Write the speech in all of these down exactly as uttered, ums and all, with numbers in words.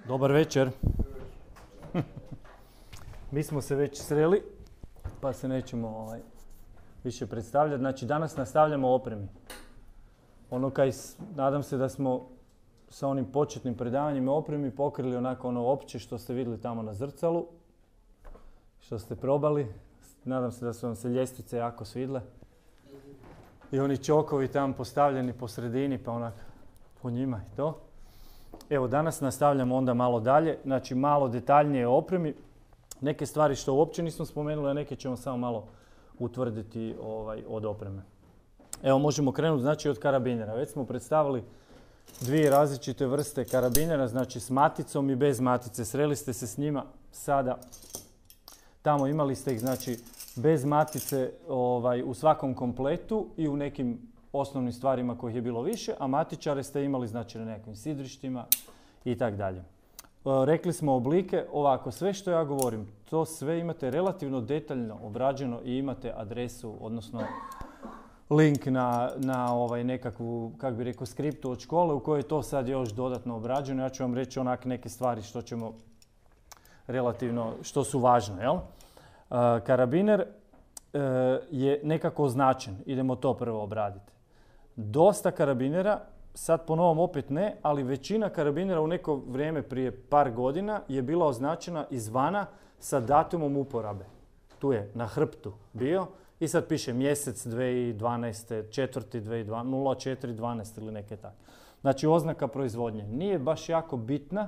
Dobar večer. Mi smo se već sreli, pa se nećemo ovaj, više predstavljati. Znači, danas nastavljamo o opremi. Ono kaj, nadam se da smo sa onim početnim predavanjima o opremi pokrili onako ono opće što ste vidjeli tamo na zrcalu, što ste probali. Nadam se da su vam se ljestvice jako svidle. I oni čokovi tamo postavljeni po sredini, pa onak po njima i to. Evo, danas nastavljamo onda malo dalje, znači malo detaljnije o opremi. Neke stvari što uopće nismo spomenuli, a neke ćemo samo malo utvrditi ovaj, od opreme. Evo, možemo krenuti znači od karabinera. Već smo predstavili dvije različite vrste karabinera, znači s maticom i bez matice. Sreli ste se s njima sada. Tamo imali ste ih znači bez matice ovaj, u svakom kompletu i u nekim osnovnim stvarima kojih je bilo više, a matičare ste imali znači na nekim sidrištima i tako dalje. Rekli smo oblike, ovako, sve što ja govorim, to sve imate relativno detaljno obrađeno i imate adresu, odnosno link na, na ovaj nekakvu, kako bi rekao, skriptu od škole u kojoj je to sad još dodatno obrađeno. Ja ću vam reći onak neke stvari što ćemo relativno, što su važne, jel? Karabiner je nekako označen, idemo to prvo obraditi. Dosta karabinera, sad po novom opet ne, ali većina karabinera u neko vrijeme prije par godina je bila označena izvana sa datumom uporabe. Tu je na hrbtu bio i sad piše mjesec dvije tisuće dvanaeste, četvrti dvije tisuće dvanaeste, nula četiri dvanaeste ili neke tako. Znači oznaka proizvodnje. Nije baš jako bitna,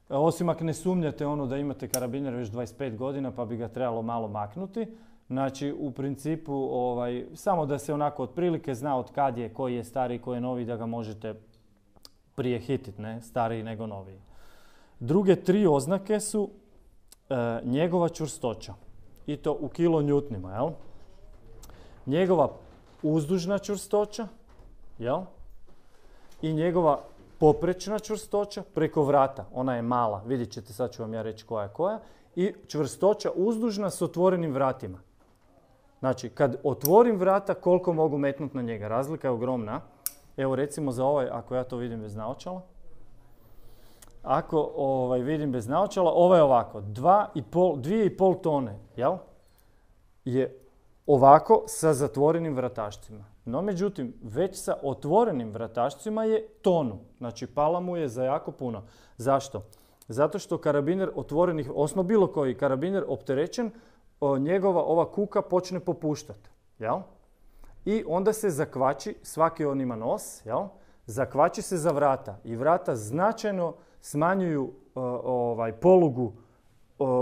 osim ako ne sumnjate ono da imate karabiner već dvadeset pet godina pa bi ga trebalo malo maknuti. Znači, u principu, ovaj, samo da se onako otprilike zna od kad je, koji je stariji, koji je novi, da ga možete prije hititi, ne? Stariji nego noviji. Druge tri oznake su e, njegova čvrstoća. I to u kilonjutnima, jel? Njegova uzdužna čvrstoća, jel? I njegova poprečna čvrstoća preko vrata. Ona je mala, vidjet ćete, sad ću vam ja reći koja je koja. I čvrstoća uzdužna s otvorenim vratima. Znači, kad otvorim vrata, koliko mogu metnuti na njega? Razlika je ogromna. Evo, recimo za ovaj, ako ja to vidim bez naočala. Ako ovaj, vidim bez naočala, ovo je ovako. Dvije i pol tone, jel? Je ovako sa zatvorenim vratašcima. No, međutim, već sa otvorenim vratašcima je tonu. Znači, pala mu je za jako puno. Zašto? Zato što karabiner otvorenih, osnovno bilo koji karabiner opterećen, njegova ova kuka počne popuštati, jel? I onda se zakvači, svaki on ima nos, jel? Zakvači se za vrata i vrata značajno smanjuju uh, ovaj, polugu uh,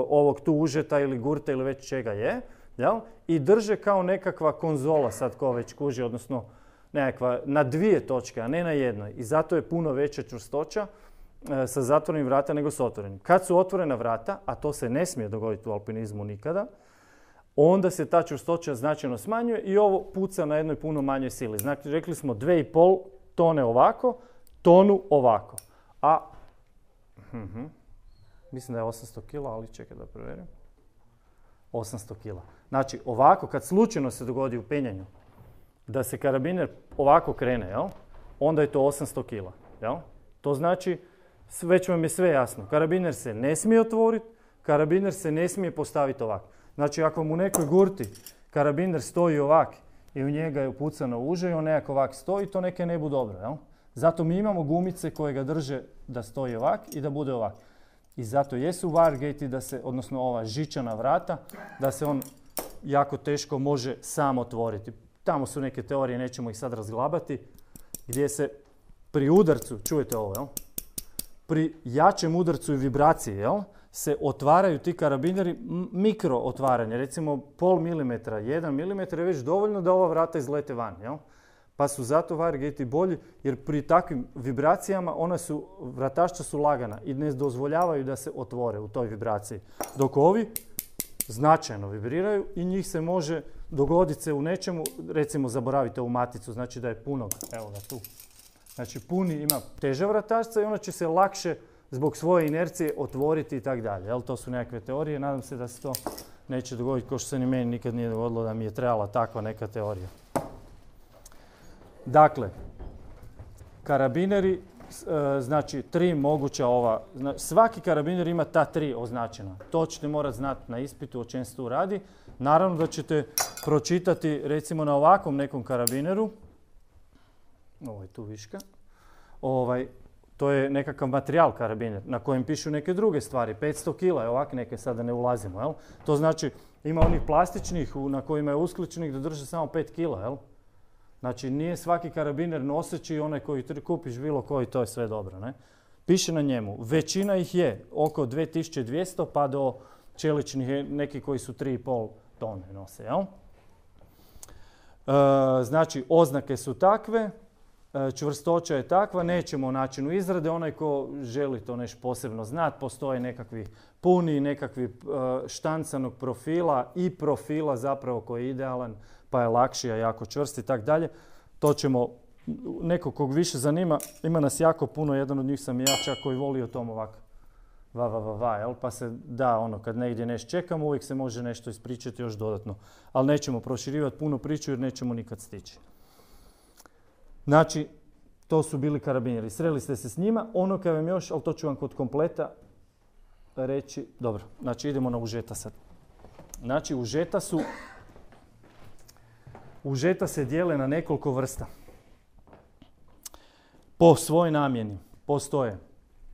ovog tu užeta ili gurta ili već čega je, jel? I drže kao nekakva konzola, sad ko već kuži, odnosno nekakva na dvije točke, a ne na jednoj. I zato je puno veća čvrstoća uh, sa zatvorenim vrata nego s otvorenim. Kad su otvorena vrata, a to se ne smije dogoditi u alpinizmu nikada, onda se ta čvrstoća značajno smanjuje i ovo puca na jednoj puno manjoj sili. Znači, rekli smo dvije i pol tone ovako, tonu ovako. A, uh-huh, mislim da je osamsto kila, ali čekaj da provjerim. osamsto kila. Znači, ovako, kad slučajno se dogodi u penjanju, da se karabiner ovako krene, jel? Onda je to osamsto kila. Jel? To znači, već vam je sve jasno. Karabiner se ne smije otvoriti, karabiner se ne smije postaviti ovako. Znači, ako mu u nekoj gurti karabiner stoji ovak i u njega je upucano uže i on nekako ovak stoji, to neke ne bude dobro, jel? Zato mi imamo gumice koje ga drže da stoji ovak i da bude ovak. I zato jesu Wiregate, da se, odnosno ova žičana vrata, da se on jako teško može sam otvoriti. Tamo su neke teorije, nećemo ih sad razglabati, gdje se pri udarcu, čujete ovo, jel? Pri jačem udarcu i vibraciji, jel? Se otvaraju ti karabineri, mikro otvaranje, recimo pol milimetra, jedan milimetar je već dovoljno da ova vrata izlete van, jel? Pa su zato Wiregate bolji, jer pri takvim vibracijama ona su, vratašća su lagana i ne dozvoljavaju da se otvore u toj vibraciji. Dok ovi značajno vibriraju i njih se može dogoditi se u nečemu, recimo zaboravite ovu maticu, znači da je punog, evo ga tu. Znači puni ima teža vratašca i ona će se lakše zbog svoje inercije otvoriti i tako dalje. To su nekakve teorije, nadam se da se to neće dogoditi, kao što se ni meni nikad nije dogodilo da mi je trebala takva neka teorija. Dakle, karabineri znači tri moguća ova, svaki karabiner ima ta tri označena. To ćete morati znati na ispitu o čem se tu radi. Naravno da ćete pročitati recimo na ovakvom nekom karabineru, ovo je tu viška, ovaj, to je nekakav materijal karabiner na kojem pišu neke druge stvari, petsto kila je ovak neke, sada ne ulazimo, jel? To znači ima onih plastičnih na kojima je uskličnik da drže samo pet kila, jel? Znači nije svaki karabiner noseći onaj koji kupiš bilo koji, to je sve dobro, ne? Piše na njemu, većina ih je oko dvije tisuće dvjesto pa do čeličnih neki koji su tri i pol tone nose, jel? E, znači oznake su takve, čvrstoća je takva, nećemo o načinu izrade, onaj ko želi to nešto posebno znati, postoje nekakvi puni, nekakvi štancanog profila i profila zapravo koji je idealan, pa je lakši, a jako čvrst i tak dalje. To ćemo, neko kog više zanima, ima nas jako puno, jedan od njih sam ja čak koji voli o tom ovako, va, va, va, va, jel? Pa se da, ono, kad negdje nešto čekamo, uvijek se može nešto ispričati još dodatno. Ali nećemo proširivati puno priču jer nećemo nikad stići. Znači, to su bili karabinjeri. Sreli ste se s njima. Ono kad vam još, ali to ću vam kod kompleta reći. Dobro, znači idemo na užeta sad. Znači, užeta su... Užeta se dijele na nekoliko vrsta. Po svojoj namjeni postoje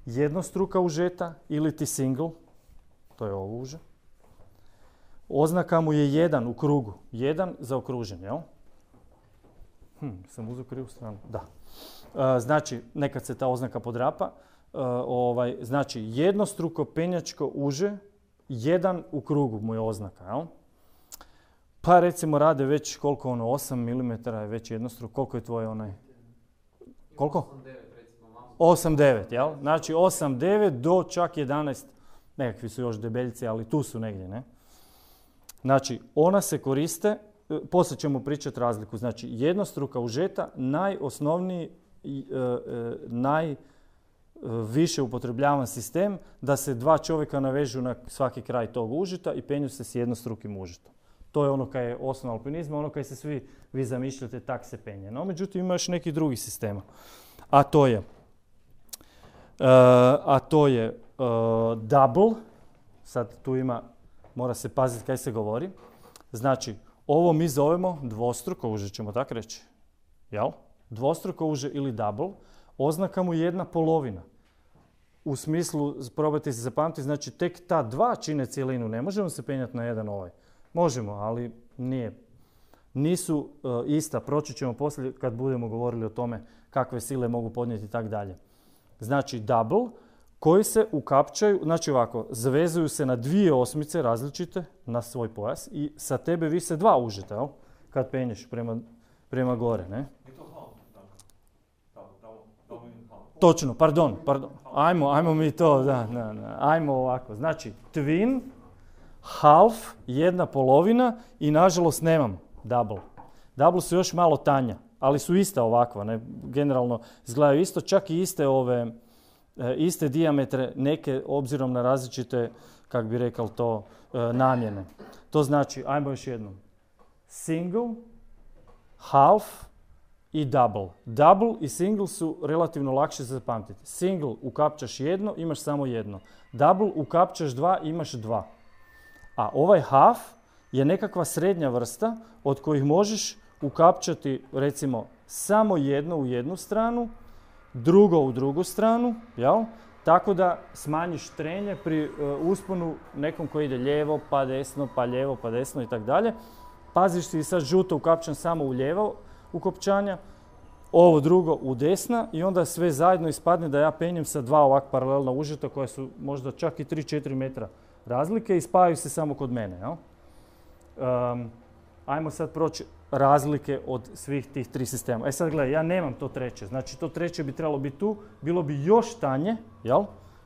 jednostruka užeta ili ti single. To je ovo uže. Oznaka mu je jedan u krugu. Jedan zaokružen, jel? Hm, sam uzeo krivu stranu. Da. E, znači, nekad se ta oznaka podrapa. E, ovaj, znači, jednostruko penjačko uže, jedan u krugu mu je oznaka, jel? Pa recimo rade već koliko ono, osam milimetara je već jednostruko. Koliko je tvoj onaj? Koliko? osam devet, jel? Znači osam devet do čak jedanaest. Nekakvi su još debeljci, ali tu su negdje, ne? Znači, ona se koriste, poslije ćemo pričati razliku. Znači, jednostruka užeta, najosnovniji, e, e, najviše upotrebljavan sistem da se dva čovjeka navežu na svaki kraj tog užeta i penju se s jednostrukim užetom. To je ono kaj je osnova alpinizma, ono kaj se svi vi zamišljate, tak se penje. No, međutim, ima još nekih drugih sistema. A to je, uh, a to je uh, double, sad tu ima, mora se paziti kaj se govori. Znači, ovo mi zovemo dvostruko uže, ćemo tako reći. Jel? Dvostruko uže ili double, oznaka mu je jedna polovina. U smislu, probajte se zapamtiti, znači tek ta dva čine cijelinu, ne možemo se penjati na jedan ovaj. Možemo, ali nije. Nisu uh, ista, proći ćemo poslije kad budemo govorili o tome kakve sile mogu podnijeti i tak dalje. Znači double, koji se ukapčaju, znači ovako, zavezuju se na dvije osmice različite na svoj pojas i sa tebe vise dva užeta, jel? Kad penješ prema, prema gore, ne? Točno, pardon, pardon. Ajmo, ajmo mi to, da, da, da. Ajmo ovako. Znači, twin, half, jedna polovina i nažalost nemam double. Double su još malo tanja, ali su ista ovakva, ne? Generalno izgledaju isto, čak i iste ove, e, iste dijametre, neke obzirom na različite, kak bi rekao to, e, namjene. To znači, ajmo još jednom, single, half i double. Double i single su relativno lakše za zapamtiti. Single ukapčaš jedno, imaš samo jedno. Double ukapčaš dva, imaš dva. A ovaj half je nekakva srednja vrsta od kojih možeš ukapčati recimo samo jedno u jednu stranu, drugo u drugu stranu, jel? Tako da smanjiš trenje pri uh, usponu nekom koji ide lijevo pa desno, pa lijevo pa desno i tako dalje. Paziš si sad žuto ukapčan samo u lijevo ukopčanja, ovo drugo u desna i onda sve zajedno ispadne da ja penjem sa dva ovak paralelna užeta koja su možda čak i tri do četiri metra razlike i spajaju se samo kod mene. Jel? Um, ajmo sad proći razlike od svih tih tri sistema. E sad gledaj, ja nemam to treće, znači to treće bi trebalo biti tu, bilo bi još tanje, jel?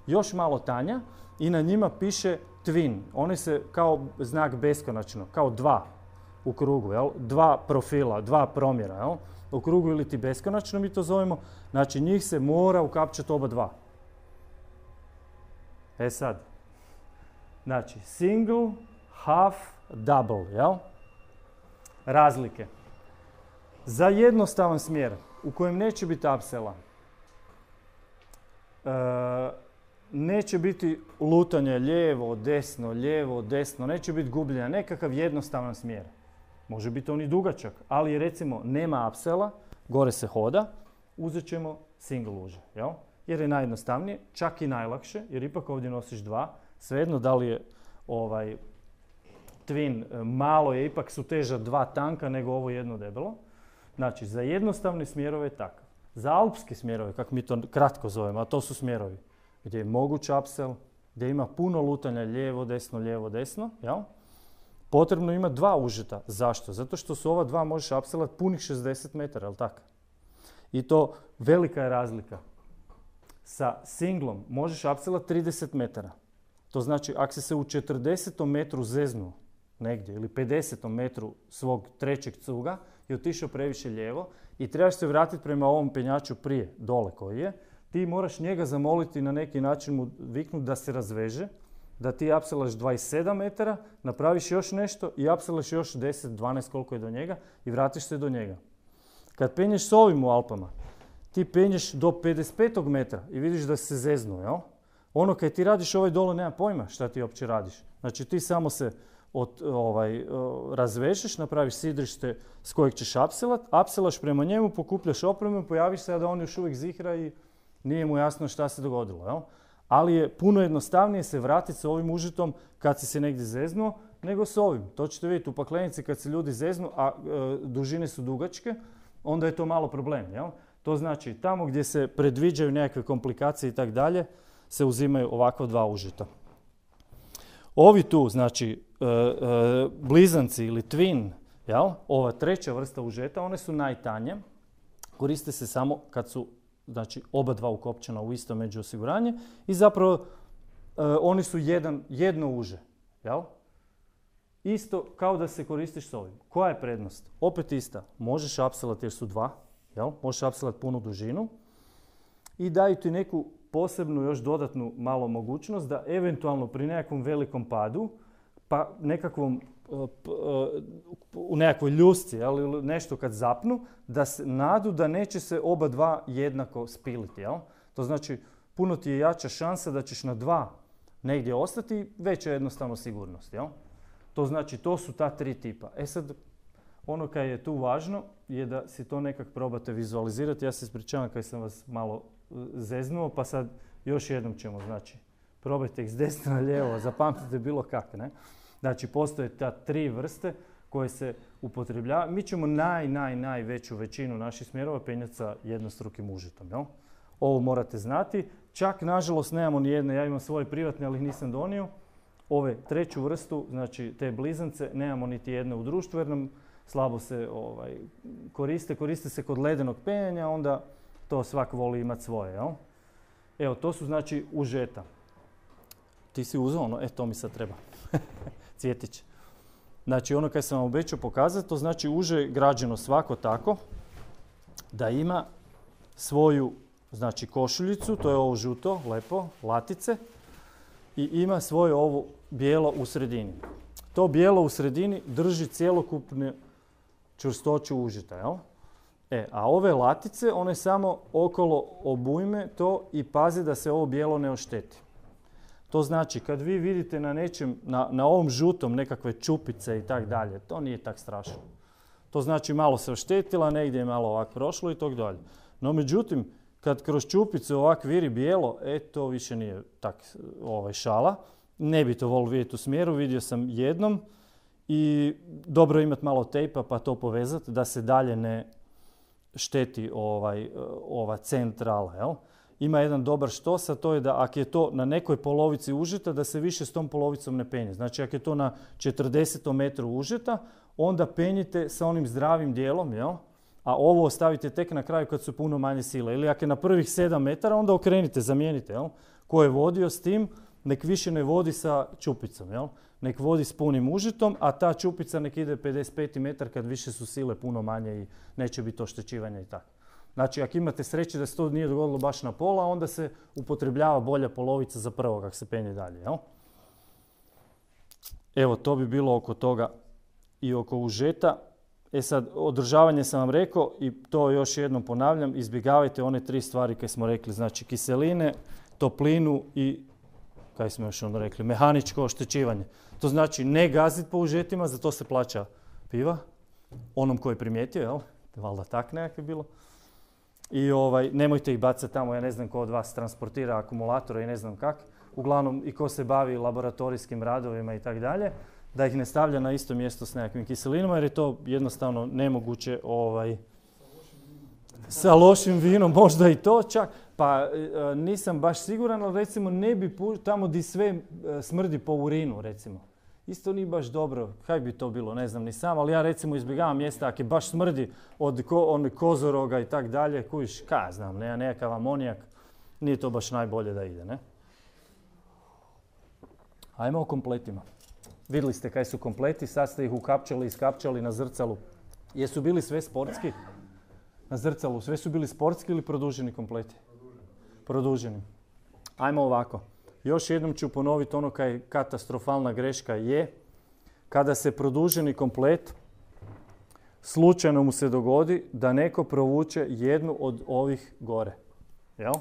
Još malo tanja i na njima piše twin. Oni se kao znak beskonačno, kao dva u krugu, jel? Dva profila, dva promjera, jel? U krugu ili ti beskonačno mi to zovemo, znači njih se mora ukapčati oba dva. E sad, znači single, half, double, jel? Razlike. Za jednostavan smjer u kojem neće biti apsela, neće biti lutanje lijevo, desno, lijevo, desno, neće biti gubljenja, nekakav jednostavan smjer. Može biti on i dugačak, ali recimo nema upsella, gore se hoda, uzet ćemo single uže, jel? Jer je najjednostavnije, čak i najlakše, jer ipak ovdje nosiš dva, svejedno da li je ovaj twin, malo je, ipak su teža dva tanka nego ovo jedno debelo. Znači, za jednostavne smjerove je takav. Za alpske smjerove, kako mi to kratko zovemo, a to su smjerovi gdje je moguć upsell, gdje ima puno lutanja lijevo, desno, lijevo, desno, jel? Potrebno ima dva užeta. Zašto? Zato što su ova dva možeš upsellat punih šezdeset metara, jel tako? I to velika je razlika. Sa singlom možeš upsellat trideset metara. To znači, ako si se u četrdesetom metru zeznuo negdje ili pedesetom metru svog trećeg cuga i otišao previše lijevo i trebaš se vratiti prema ovom penjaču prije, dole koji je, ti moraš njega zamoliti na neki način mu viknuti da se razveže, da ti upsellaš dvadeset sedam metara, napraviš još nešto i upsellaš još deset, dvanaest koliko je do njega i vratiš se do njega. Kad penješ s ovim u Alpama, ti penješ do pedeset petog metra i vidiš da se zeznu, jel? Ono kad ti radiš ovaj dole nema pojma šta ti uopće radiš. Znači ti samo se od, ovaj, razvežeš, napraviš sidrište s kojeg ćeš upsellat, upsellaš prema njemu, pokupljaš opremu, pojaviš se da on još uvijek zihra i nije mu jasno šta se dogodilo, jel? Ali je puno jednostavnije se vratiti sa ovim užitom kad si se negdje zeznuo, nego s ovim. To ćete vidjeti u paklenici kad se ljudi zeznu, a e, dužine su dugačke, onda je to malo problem, jel? To znači tamo gdje se predviđaju nekakve komplikacije i tak dalje, se uzimaju ovakva dva užita. Ovi tu, znači, e, e, blizanci ili twin, jel? Ova treća vrsta užeta, one su najtanje. Koriste se samo kad su, znači, oba dva ukopčena u isto međuosiguranje i zapravo e, oni su jedan, jedno uže, jel? Isto kao da se koristiš s ovim. Koja je prednost? Opet ista. Možeš upsellat jer su dva, jel? Možeš upsellat punu dužinu i daju ti neku posebnu još dodatnu malo mogućnost da eventualno pri nekakvom velikom padu, pa nekakvom, u nekakvoj ljusci, ali nešto kad zapnu, da se nadu da neće se oba dva jednako spiliti, jel? To znači puno ti je jača šansa da ćeš na dva negdje ostati, veća je jednostavno sigurnost, jel? To znači to su ta tri tipa. E sad, ono kaj je tu važno je da si to nekak probate vizualizirati. Ja se ispričavam kad sam vas malo zeznuo, pa sad još jednom ćemo, znači, probajte ih s desna na lijevo, zapamtite bilo kak, ne? Znači, postoje ta tri vrste koje se upotrebljavaju. Mi ćemo naj, naj, najveću većinu naših smjerova penjati sa jednostrukim užitom, jel? Ovo morate znati. Čak, nažalost, nemamo ni jedne, ja imam svoje privatne, ali ih nisam donio. Ove treću vrstu, znači te blizance, nemamo niti jedne u društvu jer nam slabo se ovaj, koriste. Koriste se kod ledenog penjanja, onda to svak voli imati svoje, jel? Evo, to su znači užeta. Ti si uzeo ono, e to mi sad treba. Cvjetić. Znači ono kad sam vam obećao pokazati, to znači uže je građeno svako tako da ima svoju, znači, košuljicu, to je ovo žuto, lepo, latice, i ima svoje ovo bijelo u sredini. To bijelo u sredini drži cjelokupnu čvrstoću užita, jel? E, a ove latice, one samo okolo obujme to i pazi da se ovo bijelo ne ošteti. To znači, kad vi vidite na nečem, na, na ovom žutom nekakve čupice i tak dalje, to nije tak strašno. To znači malo se oštetila, negdje je malo ovako prošlo i tog dalje. No međutim, kad kroz čupicu ovak viri bijelo, e, to više nije tak ovaj, šala. Ne bi to volio vidjeti u smjeru, vidio sam jednom i dobro imati malo tejpa pa to povezati da se dalje ne šteti ovaj, ova centrala, jel? Ima jedan dobar štos, a to je da ako je to na nekoj polovici užeta, da se više s tom polovicom ne penje. Znači, ako je to na četrdesetom metru užeta, onda penjite sa onim zdravim dijelom, jel? A ovo ostavite tek na kraju kad su puno manje sile. Ili ako je na prvih sedam metara, onda okrenite, zamijenite, jel? Ko je vodio s tim, nek više ne vodi sa čupicom, jel? Nek vodi s punim užitom, a ta čupica nek ide pedeset peti metar kad više su sile puno manje i neće biti oštećivanja i tako. Znači, ako imate sreće da se to nije dogodilo baš na pola, onda se upotrebljava bolja polovica za prvo kako se penje dalje, jel? Evo, to bi bilo oko toga i oko užeta. E sad, održavanje sam vam rekao i to još jednom ponavljam, izbjegavajte one tri stvari koje smo rekli, znači kiseline, toplinu i, kaj smo još onda rekli, mehaničko oštećivanje. To znači ne gaziti po užetima, za to se plaća piva, onom koji je primijetio, jel? Valjda tak nekak je bilo. I ovaj, nemojte ih bacati tamo, ja ne znam ko od vas transportira akumulatore i ne znam kak. Uglavnom i ko se bavi laboratorijskim radovima i tako dalje, da ih ne stavlja na isto mjesto s nekakvim kiselinama jer je to jednostavno nemoguće ovaj, sa lošim vinom, možda i to čak. Pa e, nisam baš siguran, ali recimo ne bi pu- tamo di sve e, smrdi po urinu recimo. Isto nije baš dobro, kaj bi to bilo, ne znam ni sam, ali ja recimo izbjegavam mjesta ako je baš smrdi od ko, on, kozoroga i tak dalje, kujiš, kaj znam, ne, nekakav amonijak, nije to baš najbolje da ide, ne? Ajmo o kompletima. Vidjeli ste kaj su kompleti, sad ste ih ukapčali, iskapčali na zrcalu. Jesu bili sve sportski? Na zrcalu, sve su bili sportski ili produženi kompleti? Produženi. Ajmo ovako. Još jednom ću ponoviti ono kaj katastrofalna greška je kada se produženi komplet slučajno mu se dogodi da neko provuče jednu od ovih gore. Jel?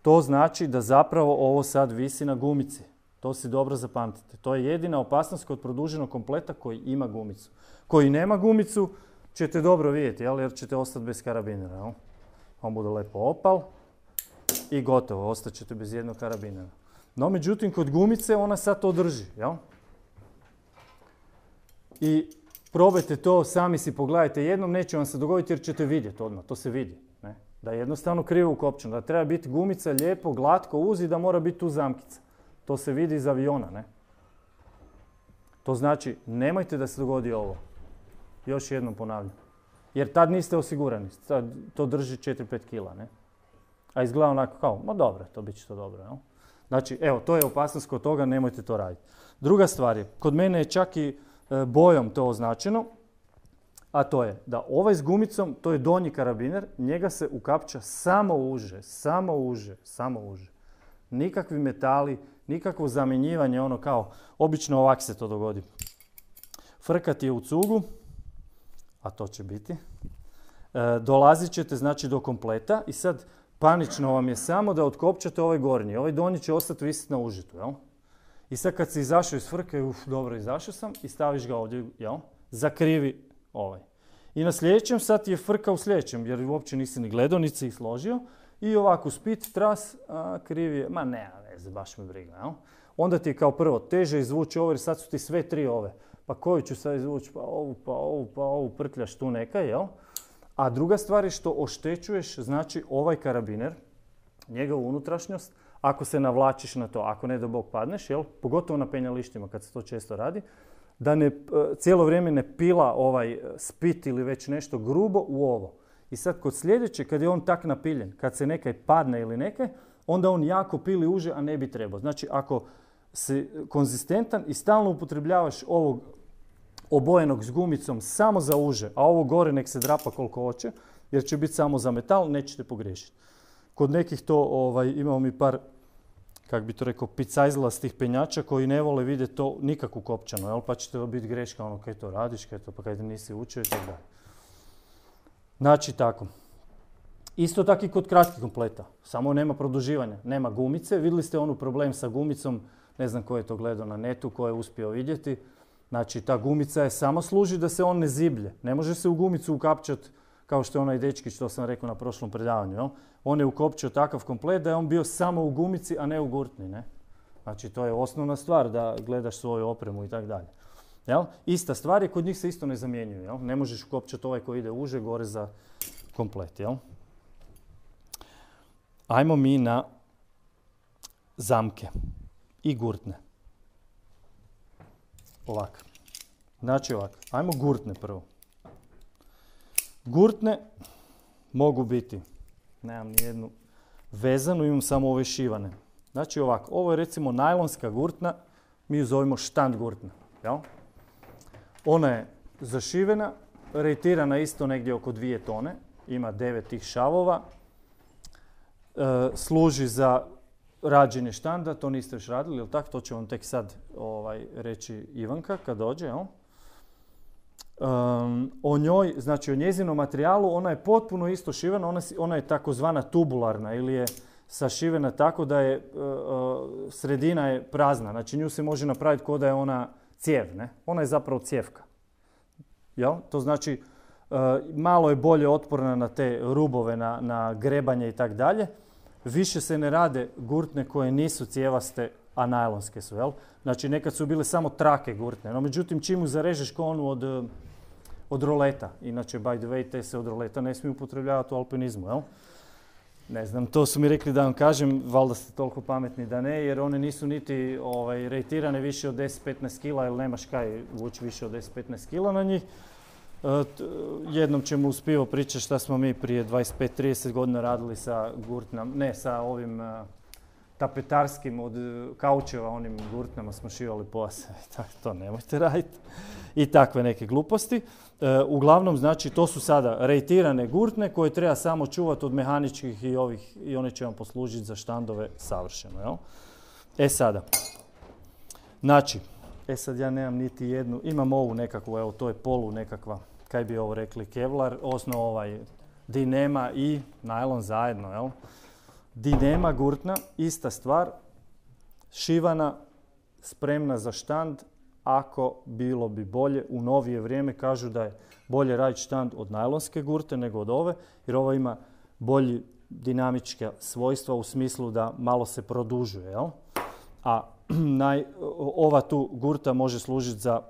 To znači da zapravo ovo sad visi na gumici. To si dobro zapamtite. To je jedina opasnost kod produženog kompleta koji ima gumicu. Koji nema gumicu ćete dobro vidjeti, jel? Jer ćete ostati bez karabinera. Jel? On bude lepo opal i gotovo, ostat ćete bez jednog karabinera. No, međutim, kod gumice ona sad to drži. Jel? I probajte to, sami si pogledajte jednom, neće vam se dogoditi jer ćete vidjeti odmah, to se vidi. Ne? Da je jednostavno krivo ukopčeno, da treba biti gumica lijepo, glatko uzi, da mora biti tu zamkica. To se vidi iz aviona, ne? To znači, nemojte da se dogodi ovo. Još jednom ponavljam. Jer tad niste osigurani, tad to drži četiri do pet kila, ne? A izgleda onako kao, ma dobro, to bit će to dobro, jel? Znači, evo, to je opasnost kod toga, nemojte to raditi. Druga stvar je, kod mene je čak i e, bojom to označeno, a to je da ovaj s gumicom, to je donji karabiner, njega se ukapča samo uže, samo uže, samo uže. Nikakvi metali, nikakvo zamjenjivanje, ono kao, obično ovak se to dogodi. Frkat je u cugu, a to će biti. E, dolazit ćete znači do kompleta i sad panično vam je samo da otkopčate ovaj gornji. Ovaj donji će ostati visiti na užitu, jel? I sad kad si izašao iz frke, uf, dobro, izašao sam i staviš ga ovdje, jel? Zakrivi ovaj. I na sljedećem sad je frka u sljedećem, jer uopće nisi ni gledao, nisi si ih složio. I ovako spit, tras, a, krivi je, ma ne, ne, baš me briga, jel? Onda ti je kao prvo teže izvući ovo jer sad su ti sve tri ove. Pa koju ću sad izvući? Pa ovu, pa ovu, pa ovu, prtljaš tu neka, jel? A druga stvar je što oštećuješ, znači ovaj karabiner, njegovu unutrašnjost, ako se navlačiš na to, ako ne da Bog padneš, jel? Pogotovo na penjalištima kad se to često radi, da ne, cijelo vrijeme ne pila ovaj spit ili već nešto grubo u ovo. I sad kod sljedeće, kad je on tak napiljen, kad se nekaj padne ili nekaj, onda on jako pili uže, a ne bi trebao. Znači, ako si konzistentan i stalno upotrebljavaš ovog obojenog s gumicom samo za uže, a ovo gore nek se drapa koliko hoće, jer će biti samo za metal, nećete pogriješiti. Kod nekih to, ovaj, imamo mi par, kak bi to rekao, picajzlastih penjača koji ne vole vidjeti to nikako kopčano, jel? Pa će to biti greška, ono, kaj to radiš, kaj to, pa kaj nisi učio i tako dalje. Znači tako. Isto tako i kod kratkih kompleta. Samo nema produživanja, nema gumice. Vidjeli ste onu problem sa gumicom, ne znam ko je to gledao na netu, ko je uspio vidjeti. Znači ta gumica je samo služi da se on ne ziblje. Ne može se u gumicu ukapčati kao što je onaj dečki što sam rekao na prošlom predavanju. Jel? On je ukopčio takav komplet da je on bio samo u gumici, a ne u gurtni. Ne? Znači to je osnovna stvar da gledaš svoju opremu i tako dalje. Jel? Ista stvar je, kod njih se isto ne zamjenjuju. Jel? Ne možeš ukopčati ovaj koji ide uže gore za komplet. Jel? Ajmo mi na zamke i gurtne. Ovako. Znači ovako. Ajmo gurtne prvo. Gurtne mogu biti, nemam nijednu vezanu, imam samo ove šivane. Znači ovako, ovo je recimo najlonska gurtna, mi ju zovemo štand gurtna. Jel? Ona je zašivena, rejtirana isto negdje oko dvije tone, ima devet tih šavova, e, služi za rađenje štanda, to niste još radili, jel tako? To će vam tek sad ovaj, reći Ivanka kad dođe. Jel? Um, o njoj, znači o njezinom materijalu, ona je potpuno isto šivena, ona, ona je takozvana tubularna ili je sašivena tako da je uh, uh, sredina je prazna, znači nju se može napraviti kao da je ona cijev, ne? Ona je zapravo cijevka. Jel? To znači uh, malo je bolje otporna na te rubove, na, na grebanje i tak dalje. Više se ne rade gurtne koje nisu cijevaste, a najlonske su, jel? Znači nekad su bile samo trake gurtne, no međutim čim mu zarežeš ko onu od, od roleta, inače by the way te se od roleta ne smiju upotrebljavati u alpinizmu, jel? Ne znam, to su mi rekli da vam kažem, valjda ste toliko pametni da ne, jer one nisu niti ovaj, rejtirane više od deset do petnaest kila, jer nemaš kaj vući više od deset do petnaest kila na njih. E, t, jednom ćemo uspivo pričati šta smo mi prije dvadeset pet do trideset godina radili sa gurtnama, ne sa ovim uh, tapetarskim od kaučeva, onim gurtnama smo šivali pojase. To nemojte raditi. I takve neke gluposti. E, uglavnom, znači, to su sada rejtirane gurtne koje treba samo čuvati od mehaničkih i ovih, i one će vam poslužiti za štandove savršeno, jel? E sada, znači, e sad ja nemam niti jednu, imam ovu nekakvu, evo, to je polu nekakva, kaj bi ovo rekli, kevlar, osnov ovaj dinema i najlon zajedno, jel? Dinema gurtna, ista stvar, šivana, spremna za štand, ako bilo bi bolje. U novije vrijeme kažu da je bolje raditi štand od najlonske gurte nego od ove, jer ova ima bolji dinamička svojstva u smislu da malo se produžuje, jel? A naj, ova tu gurta može služiti za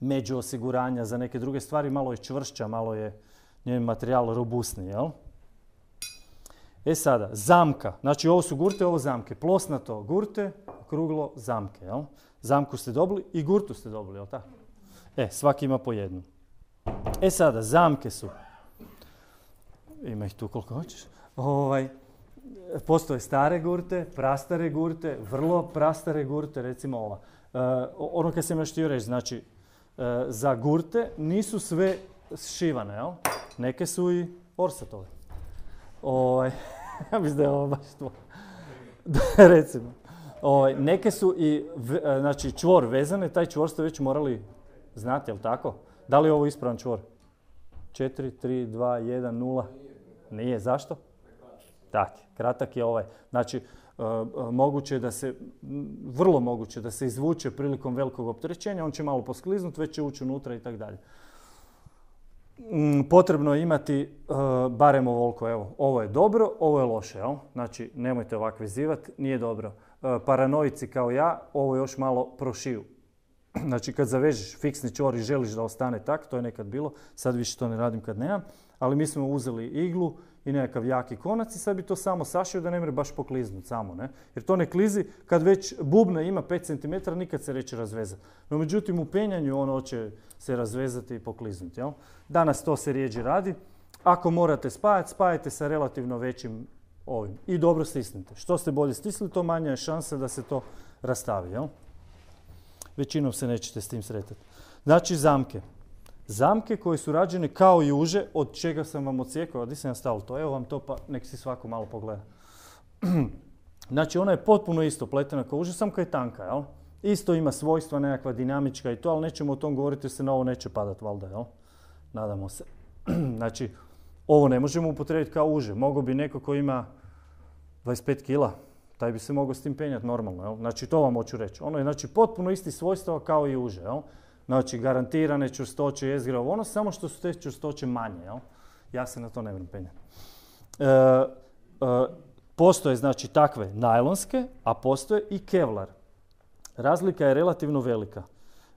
među osiguranja, za neke druge stvari, malo je čvršća, malo je njen materijal robustniji, jel? E sada, zamka. Znači ovo su gurte, ovo zamke. Plosnato gurte, kruglo zamke, jel? Zamku ste dobili i gurtu ste dobili, jel tako? E, svaki ima po jednu. E sada, zamke su. Ima ih tu koliko hoćeš. Ovaj, postoje stare gurte, prastare gurte, vrlo prastare gurte, recimo ova. E, ono kad sam još htio reći, znači, e, za gurte nisu sve šivane, jel? Neke su i orsatove. Ovaj, ja mislim da je ovo baš to. Recimo. Ovaj, neke su i v, znači, čvor vezane, taj čvor ste već morali znati, jel tako? Da li je ovo ispravan čvor? četiri, tri, dva, jedan, nula. Nije, zašto? Tak, kratak je ovaj. Znači, uh, uh, moguće da se, vrlo moguće da se izvuče prilikom velikog opterećenja, on će malo poskliznuti, već će ući unutra i tako dalje. Potrebno je imati uh, barem ovoliko, evo, ovo je dobro, ovo je loše, jel? Znači, nemojte ovako vezivati, nije dobro. Uh, paranoici kao ja, ovo još malo prošiju. Znači, kad zavežeš fiksni čvor i želiš da ostane tak, to je nekad bilo, sad više to ne radim kad nemam, ali mi smo uzeli iglu i nekakav jaki konac i sad bi to samo sašio da ne mre baš pokliznuti samo, ne? Jer to ne klizi, kad već bubna ima pet centimetara, nikad se neće razvezati. No, međutim, u penjanju ono će se razvezati i pokliznuti, jel? Danas to se rijeđe radi. Ako morate spajati, spajajte sa relativno većim ovim i dobro stisnite. Što ste bolje stisli, to manja je šansa da se to rastavi, jel? Većinom se nećete s tim sretati. Znači, zamke. Zamke koje su rađene kao i uže, od čega sam vam odsjekao, a di sam ja stavio to? Evo vam to, pa nek si svako malo pogleda. Znači, ona je potpuno isto pletena kao uže, samo kao je tanka, jel? Isto ima svojstva, nekakva dinamička i to, ali nećemo o tom govoriti jer se na ovo neće padati, valjda, jel? Nadamo se. Znači, ovo ne možemo upotrijebiti kao uže. Mogao bi neko ko ima dvadeset pet kila, taj bi se mogao s tim penjati normalno, jel? Znači, to vam hoću reći. Ono je, znači, potpuno isti svojstva kao i uže, jel? Znači, garantirane čvrstoće, jezgra, ono, samo što su te čvrstoće manje, jel? Ja se na to ne vrem penjati. E, e, postoje, znači, takve najlonske, a postoje i kevlar. Razlika je relativno velika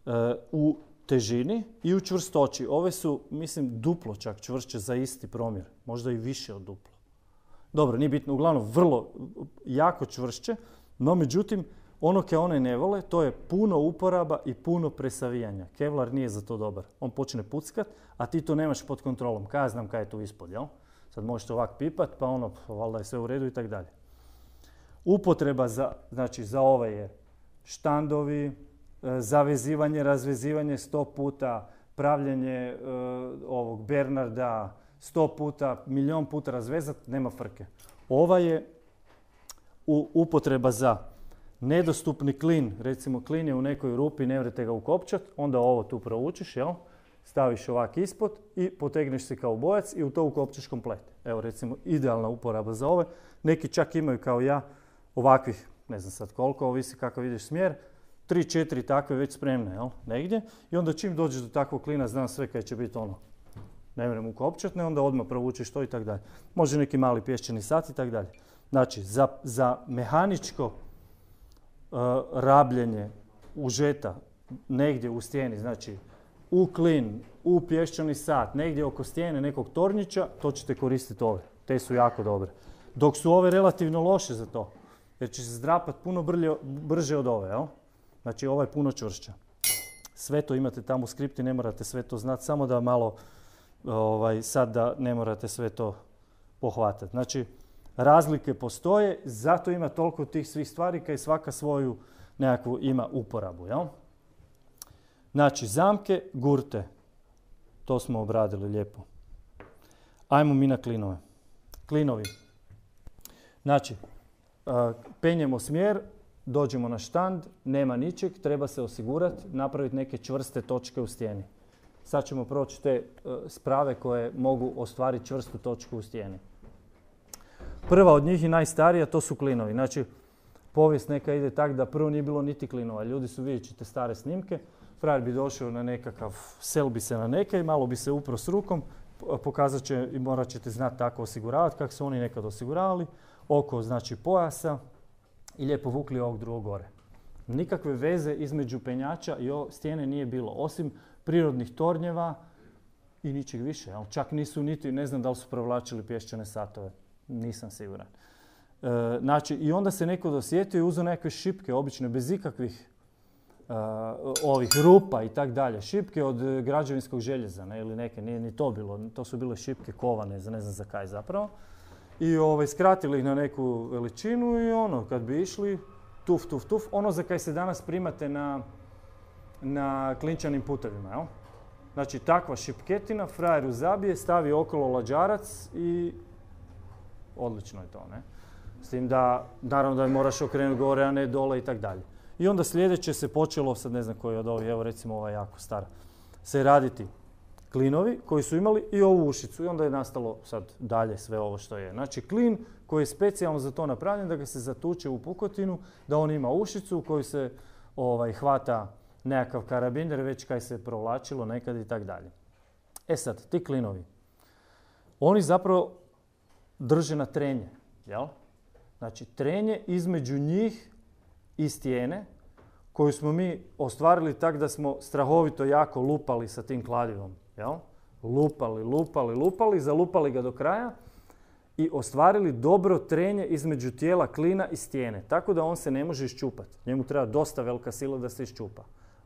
e, u težini i u čvrstoći. Ove su, mislim, duplo čak čvršće za isti promjer, možda i više od duplo. Dobro, nije bitno, uglavnom vrlo jako čvršće, no međutim, ono ke one ne vole, to je puno uporaba i puno presavijanja. Kevlar nije za to dobar. On počne puckat, a ti to nemaš pod kontrolom. Kaj ja znam kaj je tu ispod, jel? Sad možete ovak pipat, pa ono, valjda je sve u redu i tako dalje. Upotreba za, znači, za ove je štandovi, zavezivanje, razvezivanje sto puta, pravljenje uh, ovog Bernarda sto puta, milion puta razvezat, nema frke. Ova je u, upotreba za nedostupni klin, recimo klin je u nekoj rupi, ne vrete ga ukopčat, onda ovo tu proučiš, jel? staviš ovak ispod i potegneš se kao bojac i u to ukopčeš komplet. Evo recimo idealna uporaba za ove. Neki čak imaju kao ja ovakvih, ne znam sad koliko, ovisi kakav ideš smjer, tri, četiri takve već spremne, jel, negdje. I onda čim dođeš do takvog klina, znam sve kaj će biti ono, ne vrem ukopčat, ne, onda odmah provučeš to i tako dalje. Može neki mali pješčani sat i tako dalje. Znači, za, za mehaničko uh, rabljenje užeta negdje u stijeni, znači u klin, u pješčani sat, negdje oko stijene nekog tornjića, to ćete koristiti ove. Te su jako dobre. Dok su ove relativno loše za to, jer će se zdrapati puno brlje, brže od ove, jel? Znači ova je puno čvršća. Sve to imate tamo u skripti, ne morate sve to znati, samo da malo, ovaj, sad da ne morate sve to pohvatati. Znači, razlike postoje, zato ima toliko tih svih stvari kaj svaka svoju nekakvu ima uporabu, jel? Znači, zamke, gurte, to smo obradili lijepo. Ajmo mi na klinove. Klinovi. Znači, penjemo smjer, dođemo na štand, nema ničeg, treba se osigurati, napraviti neke čvrste točke u stijeni. Sad ćemo proći te sprave koje mogu ostvariti čvrstu točku u stijeni. Prva od njih i najstarija, to su klinovi. Znači, povijest neka ide tak da prvo nije bilo niti klinova. Ljudi su, vidjet ćete stare snimke, frajer bi došao na nekakav, sel bi se na neke i malo bi se upro s rukom, pokazat će i morat ćete znati tako osiguravati kako su oni nekad osiguravali, oko znači pojasa i lijepo vukli ovog drugog gore. Nikakve veze između penjača i stijene nije bilo, osim prirodnih tornjeva i ničeg više. Čak nisu niti, ne znam da li su provlačili pješčane satove, nisam siguran. E, znači, i onda se neko dosjetio i uzeo nekakve šipke, obične, bez ikakvih Uh, ovih rupa i tak dalje. Šipke od uh, građevinskog željeza, ne, ili neke, nije ni to bilo, to su bile šipke kovane, za ne znam za kaj zapravo. I ovaj, skratili ih na neku veličinu i ono, kad bi išli, tuf, tuf, tuf, ono za kaj se danas primate na, na klinčanim putevima, jel? Znači, takva šipketina, frajeru zabije, stavi okolo lađarac i odlično je to, ne? S tim da, naravno da je moraš okrenuti gore, a ne dole i tak dalje. I onda sljedeće se počelo, sad ne znam koji od ovih, evo recimo ova jako stara, se raditi klinovi koji su imali i ovu ušicu. I onda je nastalo sad dalje sve ovo što je. Znači klin koji je specijalno za to napravljen da ga se zatuče u pukotinu, da on ima ušicu u koju se ovaj, hvata nekakav karabiner, već kaj se provlačilo nekad i tak dalje. E sad, ti klinovi, oni zapravo drže na trenje, jel? Znači trenje između njih i stijene koju smo mi ostvarili tak da smo strahovito jako lupali sa tim kladivom. Jel? Lupali, lupali, lupali, zalupali ga do kraja i ostvarili dobro trenje između tijela klina i stijene. Tako da on se ne može iščupati. Njemu treba dosta velika sila da se iščupa.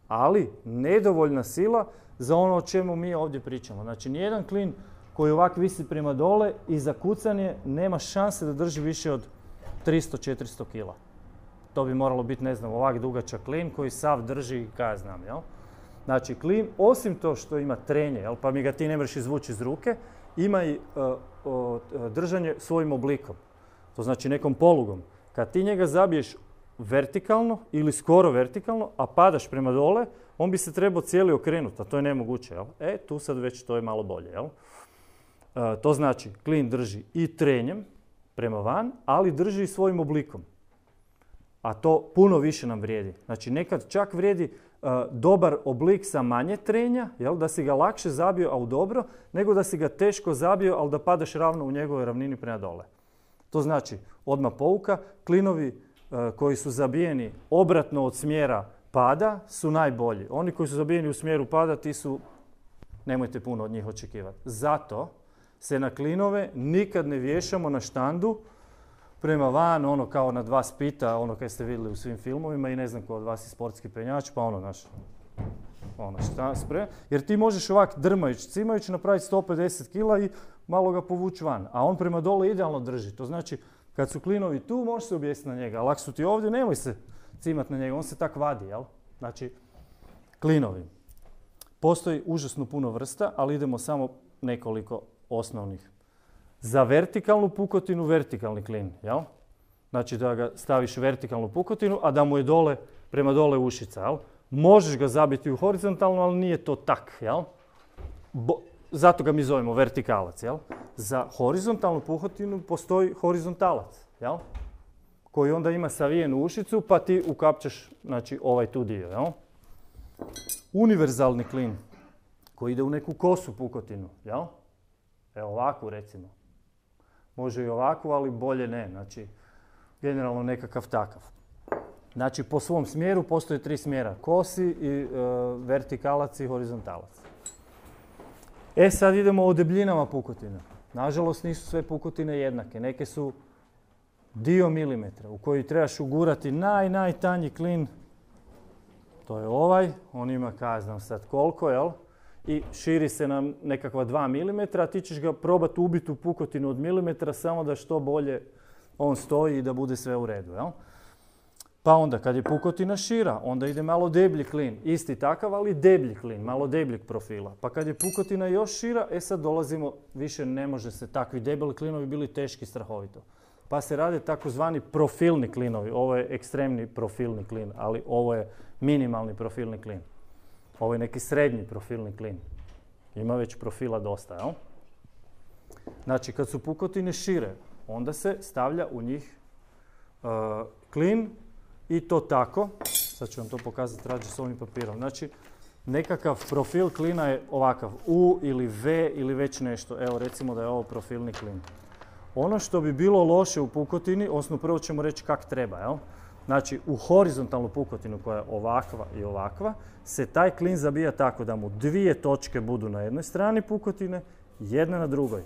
Ali nedovoljna sila za ono o čemu mi ovdje pričamo. Znači nijedan klin koji ovak visi prema dole i za kucanje nema šanse da drži više od tristo do četiristo kila. To bi moralo biti, ne znam, ovak dugačak klin koji sav drži, kaj znam, jel? Znači, klin, osim to što ima trenje, jel, pa mi ga ti ne možeš izvući iz ruke, ima i uh, uh, držanje svojim oblikom. To znači nekom polugom. Kad ti njega zabiješ vertikalno ili skoro vertikalno, a padaš prema dole, on bi se trebao cijeli okrenuti, a to je nemoguće, jel? E, tu sad već to je malo bolje, jel? Uh, to znači, klin drži i trenjem prema van, ali drži i svojim oblikom. A to puno više nam vrijedi. Znači nekad čak vrijedi uh, dobar oblik sa manje trenja, jel, da si ga lakše zabio, ali dobro, nego da si ga teško zabio, ali da padaš ravno u njegovoj ravnini prema dole. To znači, odmah pouka, klinovi uh, koji su zabijeni obratno od smjera pada su najbolji. Oni koji su zabijeni u smjeru pada, ti su, nemojte puno od njih očekivati. Zato se na klinove nikad ne vješamo na štandu prema van, ono kao na dva spita, ono kaj ste vidjeli u svim filmovima i ne znam ko od vas je sportski penjač, pa ono, znaš, ono šta spre. Jer ti možeš ovak drmajući, cimajući napraviti sto pedeset kila i malo ga povući van, a on prema dole idealno drži. To znači, kad su klinovi tu, možeš se objesiti na njega, ali ako su ti ovdje, nemoj se cimati na njega, on se tak vadi, jel? Znači, klinovi. Postoji užasno puno vrsta, ali idemo samo nekoliko osnovnih. Za vertikalnu pukotinu, vertikalni klin, jel? Znači da ga staviš vertikalnu pukotinu, a da mu je dole, prema dole ušica, jel? Možeš ga zabiti u horizontalnu, ali nije to tak, jel? bo, zato ga mi zovemo vertikalac, jel? Za horizontalnu puhotinu postoji horizontalac, jel? Koji onda ima savijenu ušicu, pa ti ukapčaš, znači, ovaj tu dio, jel? Univerzalni klin koji ide u neku kosu pukotinu, jel? Evo ovakvu recimo. Može i ovakvu, ali bolje ne, znači, generalno nekakav takav. Znači, po svom smjeru postoje tri smjera, kosi, i, e, vertikalac i horizontalac. E sad idemo o debljinama pukotina. Nažalost nisu sve pukotine jednake, neke su dio milimetra u koji trebaš ugurati naj, najtanji klin. To je ovaj, on ima, kaj znam sad koliko, jel? I širi se na nekakva dva milimetra, a ti ćeš ga probati ubiti u pukotinu od milimetra samo da što bolje on stoji i da bude sve u redu, jel? Pa onda kad je pukotina šira, onda ide malo deblji klin, isti takav, ali deblji klin, malo debljeg profila. Pa kad je pukotina još šira, e sad dolazimo, više ne može se, takvi debeli klinovi bili teški strahovito. Pa se rade takozvani profilni klinovi, ovo je ekstremni profilni klin, ali ovo je minimalni profilni klin. Ovo je neki srednji profilni klin. Ima već profila dosta, jel? Znači, kad su pukotine šire, onda se stavlja u njih uh, klin i to tako. Sad ću vam to pokazati rađe s ovim papirom. Znači, nekakav profil klina je ovakav, U ili V ili već nešto. Evo, recimo da je ovo profilni klin. Ono što bi bilo loše u pukotini, odnosno prvo ćemo reći kak treba, jel? Znači, u horizontalnu pukotinu koja je ovakva i ovakva, se taj klin zabija tako da mu dvije točke budu na jednoj strani pukotine, jedna na drugoj.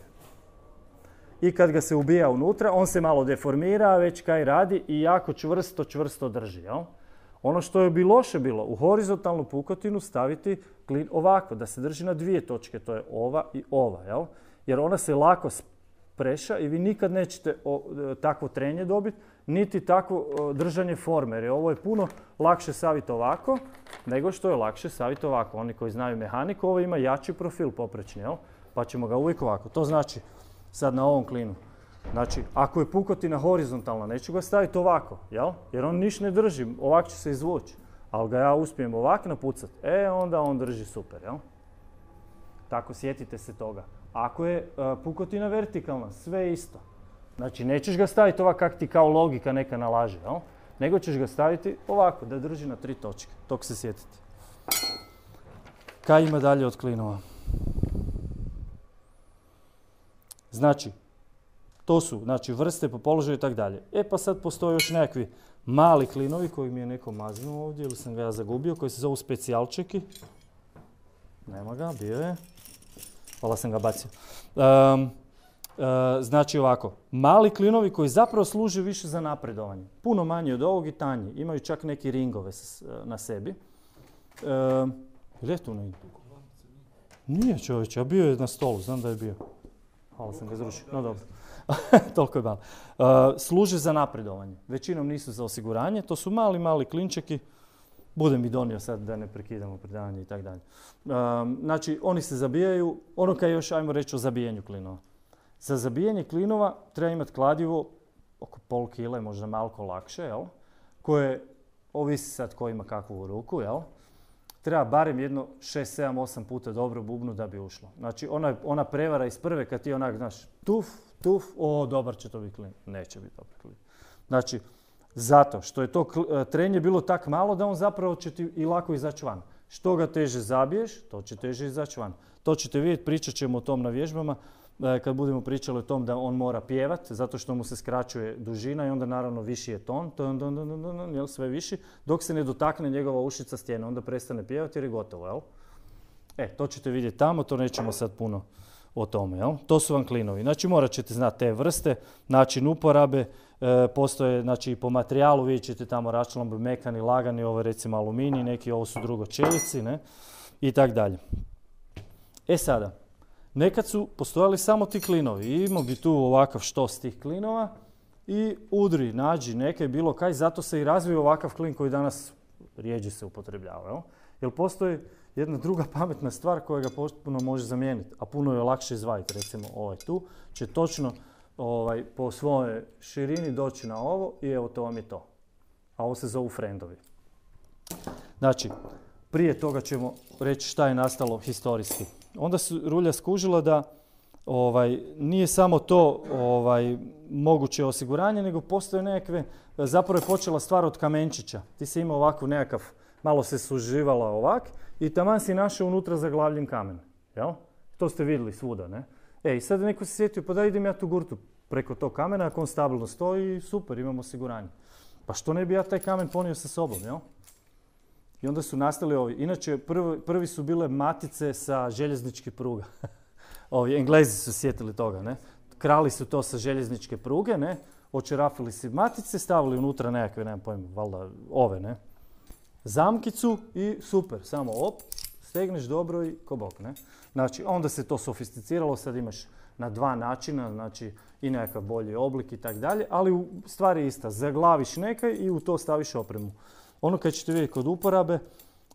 I kad ga se ubija unutra, on se malo deformira, već kaj radi i jako čvrsto, čvrsto drži, jel? Ono što bi loše bilo, u horizontalnu pukotinu staviti klin ovako, da se drži na dvije točke, to je ova i ova, jel? Jer ona se lako preša i vi nikad nećete o, takvo trenje dobiti, niti takvo o, držanje forme. Jer ovo je puno lakše saviti ovako, nego što je lakše saviti ovako. Oni koji znaju mehaniku, ovo ima jači profil poprečni, jel? Pa ćemo ga uvijek ovako. To znači, sad na ovom klinu, znači, ako je pukotina horizontalna, neću ga staviti ovako, jel? Jer on niš ne drži, ovak će se izvući. Ali ga ja uspijem ovak napucati, e, onda on drži super, jel? Tako, sjetite se toga. Ako je uh, pukotina vertikalna, sve isto. Znači, nećeš ga staviti ovako kak ti kao logika neka nalaže, jel? Nego ćeš ga staviti ovako, da drži na tri točke. Tog se sjetite. Kaj ima dalje od klinova? Znači, to su znači, vrste po položaju i tako dalje. E pa sad postoje još nekakvi mali klinovi koji mi je neko maznuo ovdje ili sam ga ja zagubio, koji se zovu specijalčeki. Nema ga, bio je. Hvala, sam ga bacio. Um, uh, znači ovako, mali klinovi koji zapravo služe više za napredovanje. Puno manji od ovog i tanji. Imaju čak neki ringove s, na sebi. Um, gdje je tu negdje? Nije čovječe, a bio je na stolu, znam da je bio. Hvala, sam ga izrušio. No dobro. Toliko je malo. Uh, služe za napredovanje. Većinom nisu za osiguranje. To su mali, mali klinčeki. Budem mi donio sad da ne prekidamo predavanje i tako dalje. Um, znači, oni se zabijaju, ono kaj još, ajmo reći o zabijanju klinova. Za zabijanje klinova treba imati kladivo oko pol kile, možda malko lakše, jel? Koje, ovisi sad ko ima kakvu u ruku, jel? Treba barem jedno šest, sedam, osam puta dobro bubnu da bi ušlo. Znači, ona, ona prevara iz prve kad ti onak, znaš, tuf, tuf, o, dobar će to biti klin. Neće biti dobar klin. Znači, zato što je to trenje bilo tak malo da on zapravo će ti i lako izaći van. Što ga teže zabiješ, to će teže izaći van. To ćete vidjeti, pričat ćemo o tom na vježbama, kad budemo pričali o tom da on mora pjevati, zato što mu se skraćuje dužina i onda naravno viši je ton, ton, ton, ton, ton, ton, jel, sve viši, dok se ne dotakne njegova ušica stijene, onda prestane pjevati jer je gotovo, jel? E, to ćete vidjeti tamo, to nećemo sad puno o tome, jel? To su vam klinovi. Znači, morat ćete znati te vrste, način uporabe, e, postoje, znači, i po materijalu, vidjet ćete tamo raščlambe mekani, lagani, ovo je recimo aluminij, neki ovo su drugo čelici, ne? I tak dalje. E sada, nekad su postojali samo ti klinovi i imao bi tu ovakav štos tih klinova i udri, nađi neke, bilo kaj, zato se i razvio ovakav klin koji danas rijeđe se upotrebljava, jel? Jer postoji jedna druga pametna stvar koja ga potpuno može zamijeniti, a puno je lakše izvaditi, recimo ovaj tu, će točno ovaj, po svojoj širini doći na ovo i evo to vam je to. A ovo se zovu friendovi. Znači, prije toga ćemo reći šta je nastalo historijski. onda su rulja skužila da ovaj, nije samo to ovaj, moguće osiguranje, nego postoje nekakve, zapravo je počela stvar od kamenčića. Ti si imao ovako nekakav, malo se suživala ovak i taman si našao unutra zaglavljen kamen. Jel? To ste vidjeli svuda, ne? E, i sad neko se sjetio, pa da idem ja tu gurtu preko tog kamena, ako on stabilno stoji, super, imamo osiguranje. Pa što ne bi ja taj kamen ponio sa sobom, jel? I onda su nastali ovi. Inače, prvi, prvi su bile matice sa željezničkih pruga. Ovi Englezi su sjetili toga, ne? Krali su to sa željezničke pruge, ne? Očerafili si matice, stavili unutra nekakve, nemam pojma, valjda ove, ne? Zamkicu i super, samo op, stegneš dobro i ko bok, ne? Znači, onda se to sofisticiralo, sad imaš na dva načina, znači i nekakav bolji oblik i tak dalje, ali u stvari je ista, zaglaviš nekaj i u to staviš opremu. Ono kad ćete vidjeti kod uporabe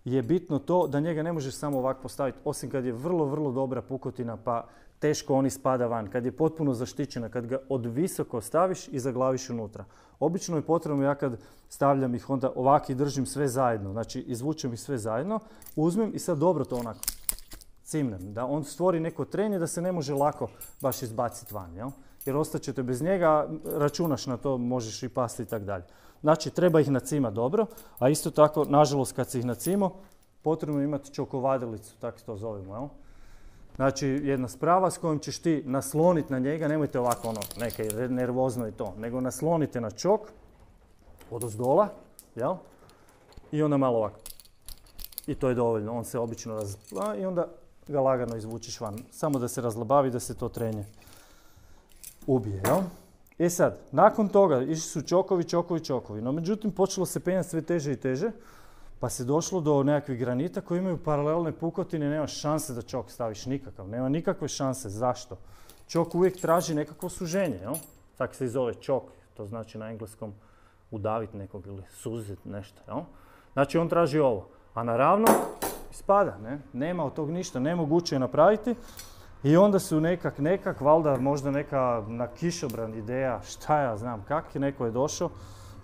je bitno to da njega ne možeš samo ovako postaviti, osim kad je vrlo, vrlo dobra pukotina pa teško on ispada van. Kad je potpuno zaštićena, kad ga od visoko staviš i zaglaviš unutra. Obično je potrebno, ja kad stavljam ih onda ovako i držim sve zajedno, znači izvučem ih sve zajedno, uzmem i sad dobro to onako cimnem, da on stvori neko trenje da se ne može lako baš izbaciti van, jel? Jer ostaćete bez njega, računaš na to, možeš i pasti i tako dalje. Znači, treba ih nacimati dobro, a isto tako, nažalost, kad si ih nacimo, potrebno je imati čokovadilicu, tako to zovemo, jel? Znači, jedna sprava s kojom ćeš ti nasloniti na njega, nemojte ovako ono, neke nervozno i to, nego naslonite na čok, odozdola, jel? I onda malo ovako. I to je dovoljno, on se obično razlaba i onda ga lagano izvučiš van. Samo da se razlabavi, da se to trenje ubije, jel? E sad, nakon toga išli su čokovi, čokovi, čokovi. No međutim, počelo se penjati sve teže i teže, pa se došlo do nekakvih granita koji imaju paralelne pukotine, nema šanse da čok staviš nikakav. Nema nikakve šanse. Zašto? Čok uvijek traži nekakvo suženje, jel? Tako se i zove čok, to znači na engleskom udaviti nekog ili suziti nešto, jel? Znači on traži ovo, a naravno ispada, ne? Nema od tog ništa, nemoguće je napraviti. I onda su nekak, nekak, valjda možda neka na kišobran ideja, šta ja znam kak, neko je došao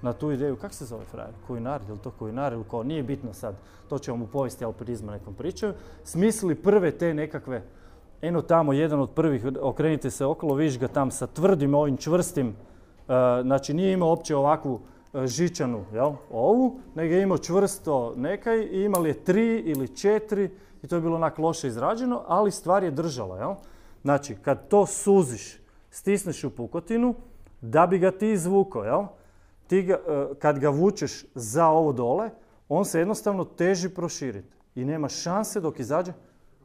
na tu ideju, kak se zove frajer, kulinar, ili to kulinar ili ko, nije bitno sad, to će vam u povijesti alpinizma nekom pričaju, smislili prve te nekakve, eno tamo jedan od prvih, okrenite se okolo, vidiš ga tam sa tvrdim ovim čvrstim, uh, znači nije imao uopće ovakvu uh, žičanu, jel, ovu, nego je imao čvrsto nekaj i imali je tri ili četiri, i to je bilo onak loše izrađeno, ali stvar je držala, jel? Znači, kad to suziš, stisneš u pukotinu, da bi ga ti izvukao, jel? Ti ga, kad ga vučeš za ovo dole, on se jednostavno teži proširiti. I nema šanse dok izađe.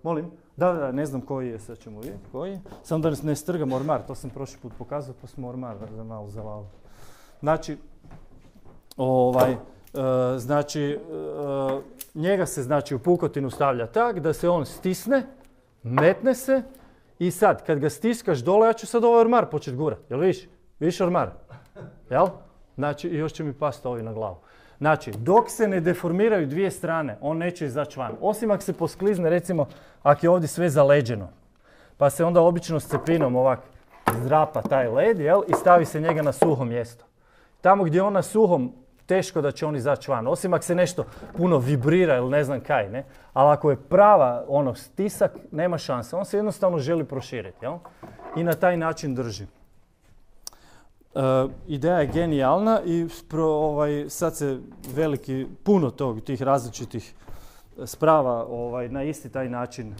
Molim? Da, da, ne znam koji je, sad ćemo vidjeti koji je. Samo da ne strgam ormar, to sam prošli put pokazao, pa smo ormar za malo zavali. Znači, ovaj... Uh, znači, uh, njega se znači u pukotinu stavlja tak da se on stisne, metne se i sad kad ga stiskaš dole, ja ću sad ovaj ormar početi gurat, jel vidiš? Vidiš ormar? Jel? Znači, još će mi pasti ovi na glavu. Znači, dok se ne deformiraju dvije strane, on neće izaći van. Osim ako se posklizne, recimo, ako je ovdje sve zaleđeno, pa se onda obično s cepinom ovak zdrapa taj led, jel? I stavi se njega na suho mjesto. Tamo gdje je on na suhom, teško da će on izaći van, osim ako se nešto puno vibrira ili ne znam kaj, ne? Ali ako je prava ono stisak, nema šanse. On se jednostavno želi proširiti, jel? I na taj način drži. Uh, ideja je genijalna i pro, ovaj, sad se veliki, puno tog, tih različitih sprava ovaj, na isti taj način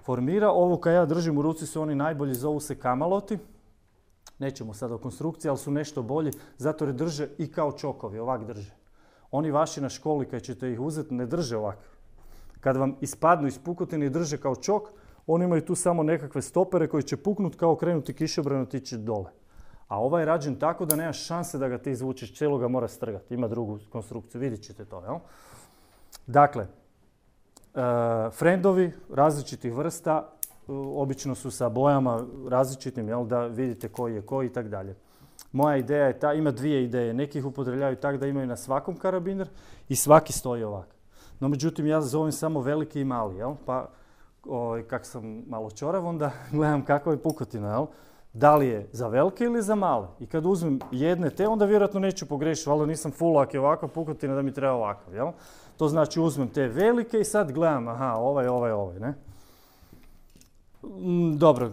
formira. Ovo kad ja držim u ruci su oni najbolji, zovu se kamaloti. Nećemo sad o konstrukciji, ali su nešto bolji, zato jer drže i kao čokovi, ovak drže. Oni vaši na školi, kad ćete ih uzeti, ne drže ovak. Kad vam ispadnu iz pukotine i drže kao čok, oni imaju tu samo nekakve stopere koji će puknuti kao krenuti kišobran i otići dole. A ovaj je rađen tako da nemaš šanse da ga ti izvučeš, cijelo ga mora strgati. Ima drugu konstrukciju, vidjet ćete to, jel? Dakle, uh, frendovi različitih vrsta, obično su sa bojama različitim, jel, da vidite koji je koji i tak dalje. Moja ideja je ta, ima dvije ideje. Neki ih upotrebljavaju tak da imaju na svakom karabiner i svaki stoji ovak. No međutim, ja zovem samo veliki i mali, jel? Pa o, kak sam malo čorav, onda gledam kakva je pukotina, jel? Da li je za velike ili za male. I kad uzmem jedne te, onda vjerojatno neću pogrešiti, valjda nisam full ako je ovakva pukotina da mi treba ovakav, jel? To znači uzmem te velike i sad gledam, aha, ovaj, ovaj, ovaj, ne? Dobro,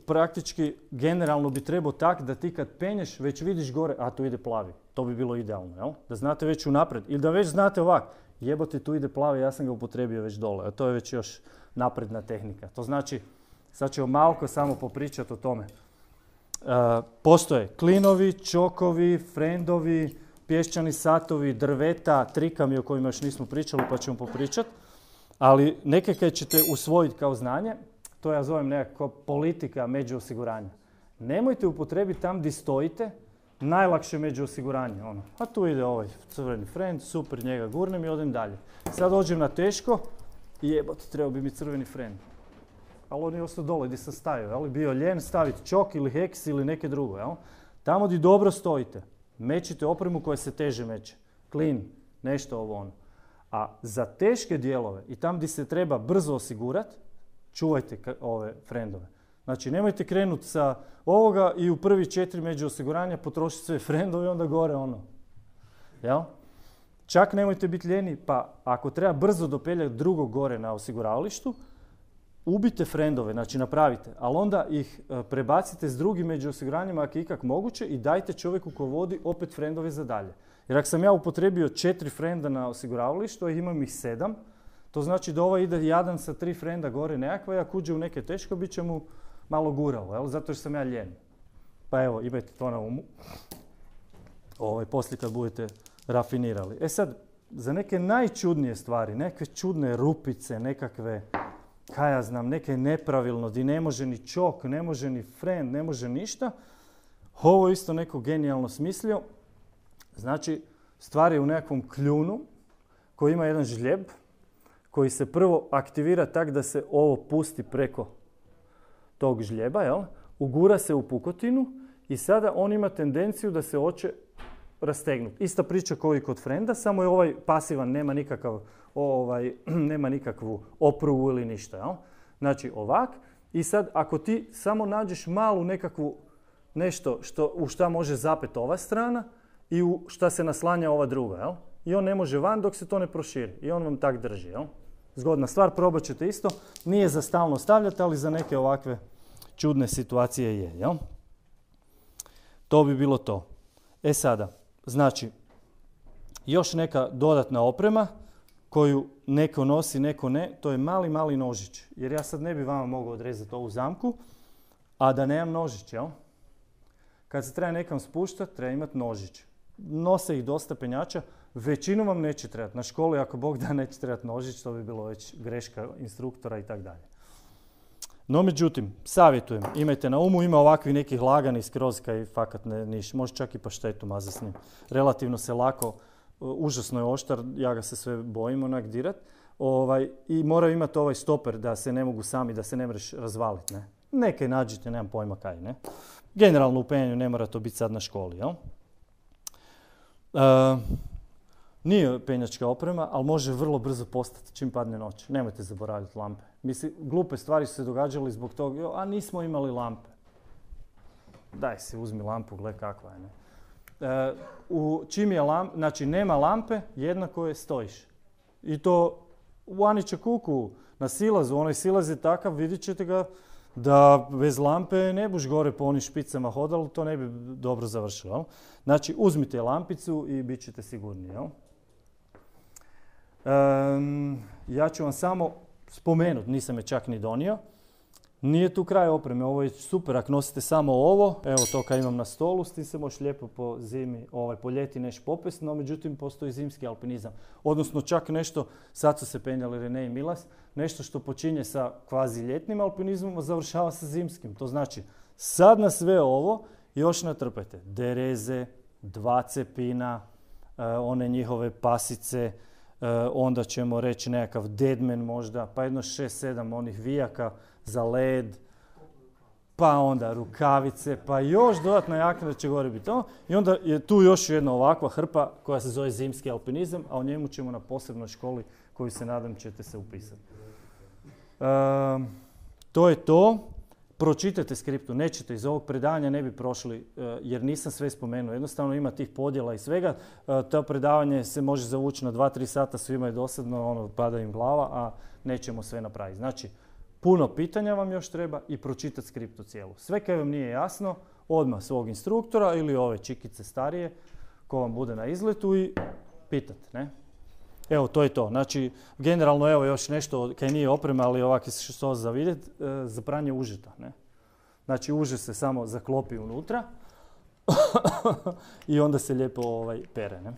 praktički generalno bi trebao tak da ti kad penješ već vidiš gore, a tu ide plavi. To bi bilo idealno, jel? Da znate već unaprijed. Ili da već znate ovak, jebote tu ide plavi, ja sam ga upotrijebio već dole. A to je već još napredna tehnika. To znači, sad ćemo malko samo popričati o tome. Uh, postoje klinovi, čokovi, frendovi, pješčani satovi, drveta, trikami o kojima još nismo pričali pa ćemo popričati. Ali neke kaj ćete usvojiti kao znanje, to ja zovem nekako politika među osiguranja. Nemojte upotrijebiti tam gdje stojite, najlakše među osiguranje. Ono. A tu ide ovaj crveni frend, super, njega gurnem i odem dalje. Sad dođem na teško i jebote, trebao bi mi crveni frend. Ali on je ostao dole gdje sam stajao, jel? Bio ljen staviti čok ili heks ili neke drugo. Jel? Tamo gdje dobro stojite, mečite opremu koja se teže meće. Klin, nešto ovo ono. A za teške dijelove i tam gdje se treba brzo osigurati, čuvajte ove frendove. Znači, nemojte krenuti sa ovoga i u prvi četiri među osiguranja potrošiti sve frendove i onda gore ono. Jel? Čak nemojte biti ljeni, pa ako treba brzo dopeljati drugog gore na osiguravalištu, ubite frendove, znači napravite, ali onda ih prebacite s drugim među osiguranjima ako je ikak moguće i dajte čovjeku ko vodi opet frendove za dalje. Jer ako sam ja upotrijebio četiri frenda na osiguravalištu, a imam ih sedam, to znači da ovaj ide jadan sa tri frenda gore nekakva i ako uđe u neke teško, bit će mu malo guralo, jel? Zato što sam ja ljen. Pa evo, imajte to na umu. Ovaj, poslije kad budete rafinirali. E sad, za neke najčudnije stvari, neke čudne rupice, nekakve, kaj ja znam, neke nepravilno, di ne može ni čok, ne može ni frend, ne može ništa, ovo isto neko genijalno smislio. Znači, stvar je u nekakvom kljunu koji ima jedan žljeb koji se prvo aktivira tak da se ovo pusti preko tog žljeba, jel? Ugura se u pukotinu i sada on ima tendenciju da se hoće rastegnuti. Ista priča kao i kod frenda, samo je ovaj pasivan, nema, nikakav, ovaj, nema nikakvu oprugu ili ništa. Jel? Znači ovak i sad ako ti samo nađeš malu nekakvu nešto što, u šta može zapet ova strana i u šta se naslanja ova druga. Jel? I on ne može van dok se to ne proširi. I on vam tak drži. Jel? Zgodna stvar, probat ćete isto. Nije za stalno stavljati, ali za neke ovakve čudne situacije je. Jel? To bi bilo to. E sada, znači, još neka dodatna oprema koju neko nosi, neko ne, to je mali, mali nožić. Jer ja sad ne bi vama mogao odrezati ovu zamku, a da nemam nožić, jel? Kad se treba nekam spuštati, treba imati nožić. Nose ih dosta penjača, većinu vam neće trebati. Na školi, ako Bog da, neće trebati nožić, to bi bilo već greška instruktora i tako dalje. No, međutim, savjetujem, imajte na umu, ima ovakvi nekih lagani skroz kaj fakat ne niš, može čak i paštetu mazati s njim. Relativno se lako, užasno je oštar, ja ga se sve bojim onak dirat. Ovaj, I moraju imati ovaj stoper da se ne mogu sami, da se ne mreš razvaliti. Ne? Neke nađite, nemam pojma kaj, ne. Generalno u penjanju ne mora to biti sad na školi, jel? Uh, nije penjačka oprema, ali može vrlo brzo postati čim padne noć. Nemojte zaboraviti lampe. Mislim, glupe stvari su se događale zbog toga, a nismo imali lampe. Daj si, uzmi lampu, gle kakva je, ne. Uh, u, čim je lamp, znači nema lampe, jednako je stojiš. I to u Anića kuku, na silazu, onaj silaz je takav, vidjet ćete ga, da bez lampe ne buš gore po onim špicama hodali, to ne bi dobro završilo. Jel? Znači, uzmite lampicu i bit ćete sigurni. Jel? Um, ja ću vam samo spomenuti, nisam je čak ni donio. Nije tu kraj opreme, ovo je super, ako nosite samo ovo, evo to kad imam na stolu, s tim se možeš lijepo po zimi, ovaj, po ljeti neš popest, no međutim postoji zimski alpinizam. Odnosno čak nešto, sad su se penjali Rene i Milas, nešto što počinje sa kvazi ljetnim alpinizmom, a završava sa zimskim. To znači, sad na sve ovo još natrpajte dereze, dva cepina, uh, one njihove pasice, uh, onda ćemo reći nekakav deadman možda, pa jedno šest sedam onih vijaka za led, pa onda rukavice, pa još dodatna jakna da će gore biti to. I onda je tu još jedna ovakva hrpa koja se zove zimski alpinizam, a o njemu ćemo na posebnoj školi koju se nadam ćete se upisati. E, to je to. Pročitajte skriptu, nećete iz ovog predavanja ne bi prošli jer nisam sve spomenuo. Jednostavno ima tih podjela i svega. To predavanje se može zavući na dva tri sata, svima je dosadno, ono, pada im glava, a nećemo sve napraviti. Znači, puno pitanja vam još treba i pročitati skriptu cijelu. Sve kaj vam nije jasno, odmah svog instruktora ili ove čikice starije ko vam bude na izletu i pitate, ne? Evo, to je to. Znači, generalno, evo još nešto kaj nije oprema, ali ovak što za vidjeti, za pranje užeta, ne? Znači, uže se samo zaklopi unutra i onda se lijepo ovaj, pere, ne?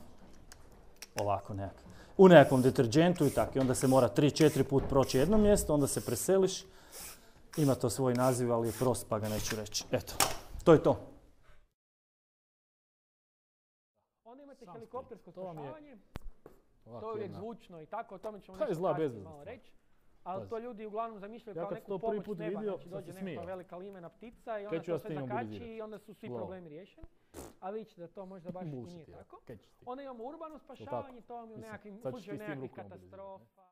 Ovako nekako. U nekakvom deterđentu i tako. I onda se mora tri četiri put proći jedno mjesto, onda se preseliš. Ima to svoj naziv, ali je prost pa ga neću reći. Eto, to je to. Onda imate helikoptersko spašavanje. Ovak, to je uvijek jedna. zvučno i tako, o tome ćemo To je nešto zla kasnije bezveznost. malo reći. Ali Pazi. to ljudi uglavnom zamišljaju Ja kao kad neku to prvi pomoć put s neba, vidio, znači sam dođe se nekakva smijao. velika limena ptica i Kaj onda ću ja to s sve tim zakači mobilizirati? i onda su svi Lol. problemi riješeni. A vi ćete da to možda baš i Bullshit, nije ja. tako. Kaj ćeš ti? Onda imamo urbano spašavanje, to vam je u Mislim, nekakvim sad ćeš ti slučaju s tim nekakvih rukama mobilizirati, ne? katastrofa.